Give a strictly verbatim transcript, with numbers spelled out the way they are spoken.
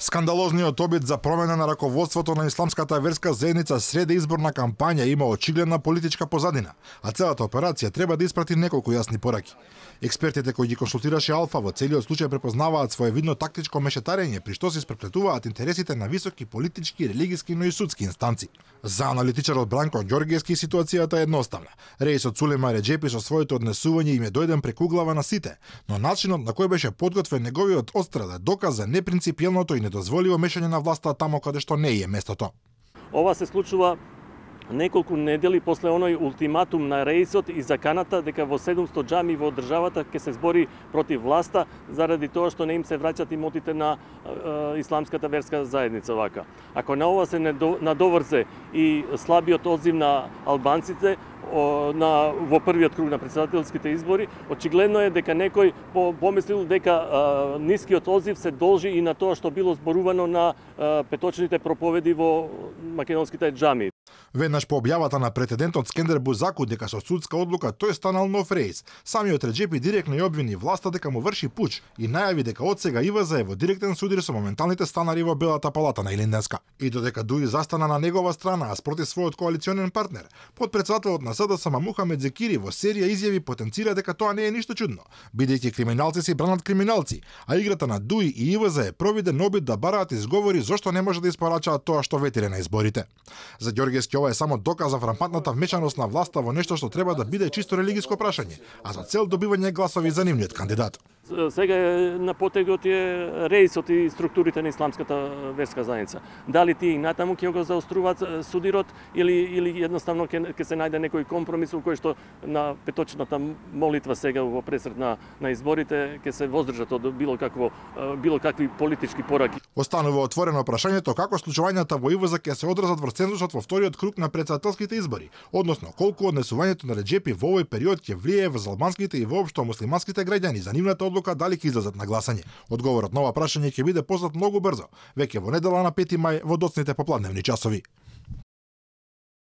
Скандалозниот обид за промена на раководството на исламската верска заедница среде изборна кампања има очигледна политичка позадина, а целата операција треба да испрати неколку јасни пораки. Експертите кои ги консултираше Алфа во целиот случај препознаваат своевидно тактичко мешетарење, при што се испреплетуваат интересите на високи политички, религиски, но и судски инстанци. За аналитичарот Бранко Ѓоргиевски ситуацијата е едноставна. Реисот Сулейман Реџепи со своето однесување им е дојден преку глава на сите, но начинот на кој беше подготвен неговиот отстрел е доказ за непринципиелното и недозволиво мешање на власта тамо каде што не е местото. Ова се случува неколку недели после оној ултиматум на Реисот и заканата дека во седумстотини џами во државата ќе се збори против власта заради тоа што не им се враќаат имотите на е, исламската верска заедница вака. Ако на ова се надоврзе и слабиот одзив на албанците на во првиот круг на претседателските избори, очигледно е дека некој помислил дека а, нискиот одзив се должи и на тоа што било зборувано на а, петочните проповеди во македонските џами. Веднаш по објавата на претендентот Скендер Бузаку дека со судска одлука тој станал нов Реис, самиот Реџепи директно ја обвини власта дека му врши пуч и најави дека одсега ИВЗ е во директен судир со моменталните станари во Белата палата на Илинденска. И додека Дуи застана на негова страна, а спротив својот коалиционен партнер, подпредседателот на СДСМ Мухамед Зекири во серија изјави потенцира дека тоа не е ништо чудно, бидејќи криминалци си бранат криминалци, а играта на Дуи и ИВЗ е провиден обид да бараат изговори зошто не може да испорачаат тоа што ветире на изборите. За Ѓоргиевски ова е само доказ за фрампантната вмешаност на власта во нешто што треба да биде чисто религиско прашање, а за цел добивање гласови за нивниот кандидат. Сега е на потегот е Реисот и структурите на исламската верска заедница. Дали тие и натаму ќе го заоструваат судирот или или едноставно ќе ќе се најде некој компромис во кој што на петочната молитва сега во пресред на на изборите ќе се воздржат од било какво било какви политички пораки. Останува отворено прашањето како случувањата во ИВЗ ќе се одразат врз цензусот во вториот круг на претседателските избори, односно колку однесувањето на Реџепи во овој период ќе влијае врз албанските и воопшто муслиманските граѓани за нивната одлука дали ќе излезат на гласање. Одговорот на ова прашање ќе биде познат многу брзо, веќе во недела на пети мај во доцните попладневни часови.